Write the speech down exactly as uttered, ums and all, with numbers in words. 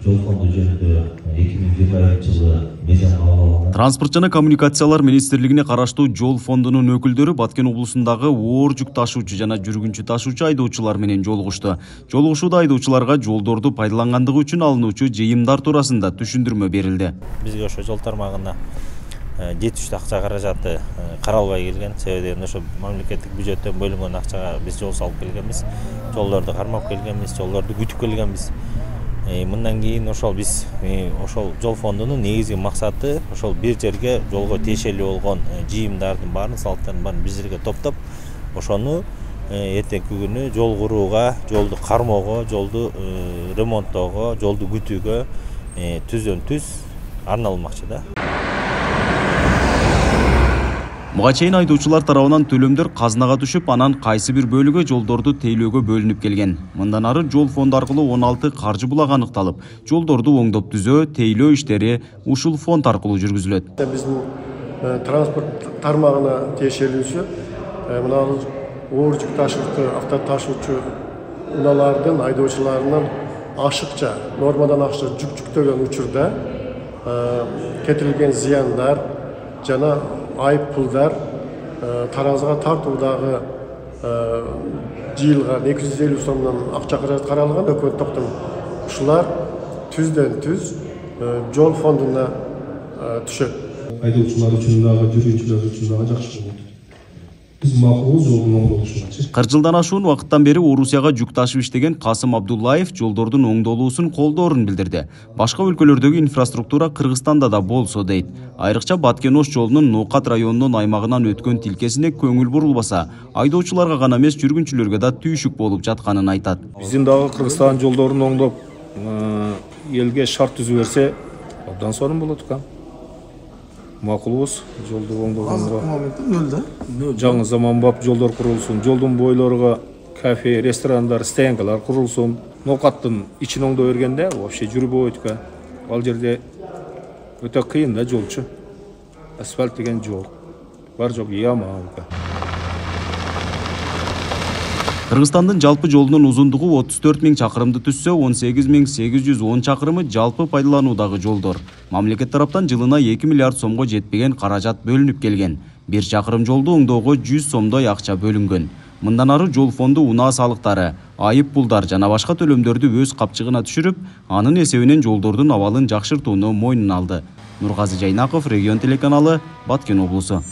Жол фонду жөнүндө эки миң жыйырма экинчи жылы мыйзам кабыл алынган. Транспорт жана коммуникациялар министрлигине караштуу жол фондунун өкүлдөрү Баткен облусундагы оор жүк ташуучу жана жүргүнчү ташуучу айдоочулар менен жолугушту. Жолугушууда айдоочуларга жолдорду пайдалангандыгы үчүн алынуучу жыйымдар туурасында түшүндүрмө берилди. Бизге ошо жол тармагына жетиштүү акча каражаты каралбай келген. Себеби ошо мамлекеттик бюджеттен бөлүнгөн акчага биз жол салып келгенбиз. Жолдорду кармап келгенбиз, жолдорду күтүп келгенбиз. Мындан кийин ошол биз ошол жол фондунун негизги максаты ошол бир жерге жолго тиешелүү болгон жыйымдардын баарын, салыктардын баарын бир жерге топтоп, ошону эртеңки күнү жол курууга, жолду кармоого, жолду ремонттоого, жолду күтүүгө түздөн түз арналмакчы да. Буга чейин айдоочулар тарабынан төлөмдөр казынага түшүп, анан кайсы бир бөлүгү жолдорду тейлөөгө бөлүнүп келген. Мындан ары жол фонду аркылуу он алты каржы булагы аныкталып, жолдорду оңдоп түзөө, тейлөө иштери ушул фонд аркылуу жүргүзүлөт. Биздин транспорт тармагына тиешелүүсү мына оор жүк ташуучу, авто ташуучу унаалардын айдоочуларынын ашыкча, нормадан ашыкча жүк жүктөгөн учурда кетирилген зыяндар жана айып пулдар таразыга тартуудагы жыйылган эки жүз элүү сомдон акча каражат каралган өкмөт токтом. Ушулар түздөн түз жол фондуна түшөт. Айдоочулар үчүн дагы, жүргүнчүлөр үчүн дагы жакшы болот. Биз макул жолдун оңдолушуна. кырк жылдан ашуун убакыттан бери Орусияга жүк ташып иштеген Касым Абдуллаев жолдордун оңдолуусун колдоорун билдирди. Башка өлкөлөрдөгү инфраструктура Кыргызстанда да болсо дейт. Айрыкча Баткен-Ош жолунун Ноокат районунун аймагынан өткөн тилкесине көңүл бурулбаса, айдоочуларга гана эмес жүргүнчүлөргө да түйшүк болуп жатканын айтат. Биздин дагы Кыргызстан жолдорун оңдоп, элге шарт түзүп берсе, абдан сонун болот экен. Макулбуз жолду оңдогонго. Нөлдө. Жаңы заманбап жолдор курулсун, жолдун бойлорго кафе, ресторандар, стоянкалар курулсун. Ноокаттын ичин оңдой бергенде вообще жүрбөйт экен. Ал жерде өтө кыйын да жолчу. Асфальт деген жол. Бар жок яма экен. Кыргызстандын жалпы жолунун узундугу отуз төрт миң чакырымды түзсө, он сегиз миң сегиз жүз он чакырымы жалпы пайдалануудагы жолдор. Мамлекет тараптан жылына эки миллиард сомго жетпеген каражат бөлүнүп келген. Бир чакырым жолду оңдоого жүз сомдой акча бөлүнгөн. Мындан ары жол фонду унаа салыктары, айып пулдар жана башка төлөмдөрдү өз капчыгына түшүрүп, анын эсебинен жолдордун абалын жакшыртууну мойнуна алды. Нургазы Жайнаков, Регион телеканалы, Баткен облусу.